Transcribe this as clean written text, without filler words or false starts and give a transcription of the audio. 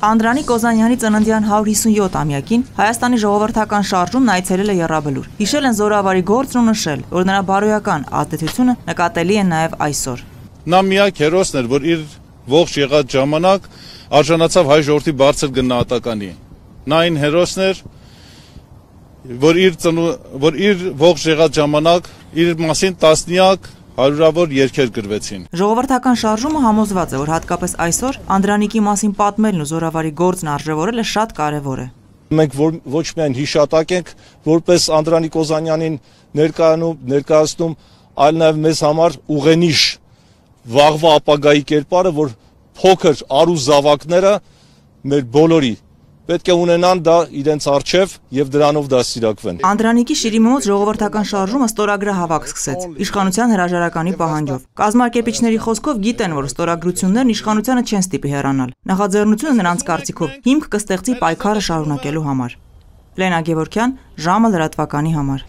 Անդրանիկ Օզանյանի ծննդյան 157-ամյակին Հայաստանի ժողովրդական շարժումն այցելել է Եռաբլուր։ Հիշել են զորավարի գործն ու նշել, որ նրա բարոյական ազդեցությունը նկատելի է նաև այսօր։ Նա միակ հերոսն էր, որ իր ողջ եղած ժամանակ արժանացավ հայ ժողովրդի բարձր գնահատականի։ Նա այն հերոսն էր, որ իր ողջ եղած ժամանակ իր մասին տասնյակ հարյուրավոր երգեր գրվեցին։ Ժողովրդական շարժումը համոզված է, որ հատկապես այսօր Անդրանիկի մասին պատմելն ու զորավարի գործն արժևորելը շատ կարևոր է։ Մենք ոչ միայն հիշատակ ենք, որպես Անդրանիկ Օզանյանին ներկայացնում, այլ նաև մեզ համար ուղենիշ վաղվա ապագայի կերպարը, որ փոքր արու զավակները մեր բոլորի պետք է ունենան դա իրենց առջև եւ դրանով դաստիարակվեն։ Անդրանիկի շիրիմի մոտ ժողովրդական շարժումը ստորագրահավաք սկսեց իշխանության հրաժարականի պահանջով։ Կազմակերպիչների խոսքով գիտեն, որ ստորագրություններն իշխանությանը չեն ստիպի հեռանալ։ Նախաձեռնությունը նրանց կարծիքով հիմք կստեղծի պայքարը շարունակելու համար։ Լենա Գևորգյան, ժամը լրատվականի համար։